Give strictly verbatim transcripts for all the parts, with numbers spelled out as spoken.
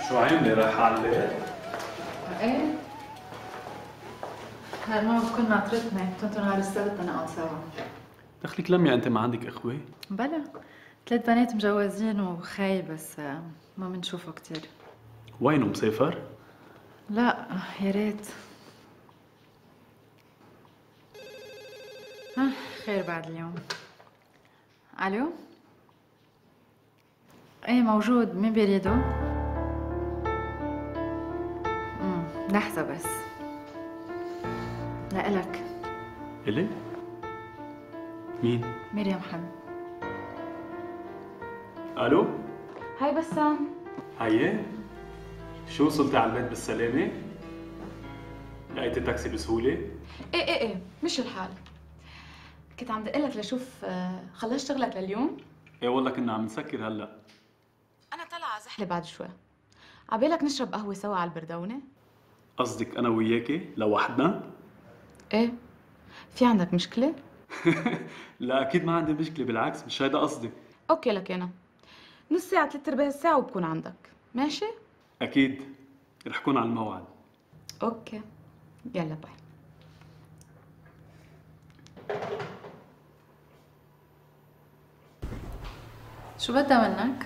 شو عاملة رايحة على البيت؟ ايه هالمرة بكون ناطرتني، كنتوا نهار السبت نقعد سوا. دخلك لميا انت ما عندك اخوة؟ بلا ثلاث بنات مجوزين وخاي بس ما بنشوفه كتير. وينه مسافر؟ لا يا ريت. ها خير بعد اليوم. الو؟ ايه موجود، مين بيريده؟ امم لحظة بس. لإلك. إلي؟ مين؟ مريم حمد. الو؟ هاي بسام. هيا؟ شو وصلتي على البيت بالسلامة؟ لقيتي تاكسي بسهولة؟ ايه ايه ايه مش الحال. كنت عم دقلك لشوف خلصت شغلك لليوم؟ ايه والله كنا عم نسكر هلا. انا طالعة زحلة بعد شوي. عبالك نشرب قهوة سوا على البردونة؟ قصدك انا وياكي لوحدنا؟ ايه في عندك مشكلة؟ لا اكيد ما عندي مشكلة، بالعكس مش هيدا قصدي. اوكي لك انا نص ساعة ثلاث ارباع الساعة وبكون عندك، ماشي؟ اكيد رح كون على الموعد. اوكي يلا باي. شو بدها منك؟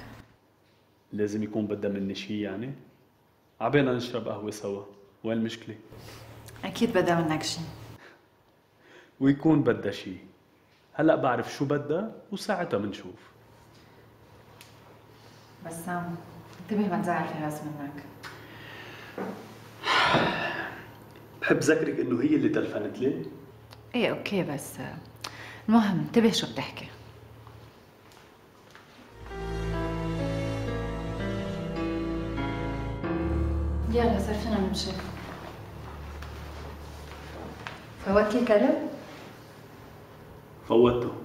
لازم يكون بدها مني شيء يعني؟ عبينا نشرب قهوة سوا، وين المشكلة؟ أكيد بدها منك شي. ويكون بدها شيء. هلا بعرف شو بدها وساعتها بنشوف. بسام انتبه ما تزعل فراس منك. بحب ذكرك انه هي اللي تلفنت لي. ايه اوكي بس المهم انتبه شو بتحكي. يلا صار فينا نمشي. فوتي الكلب؟ فوتته.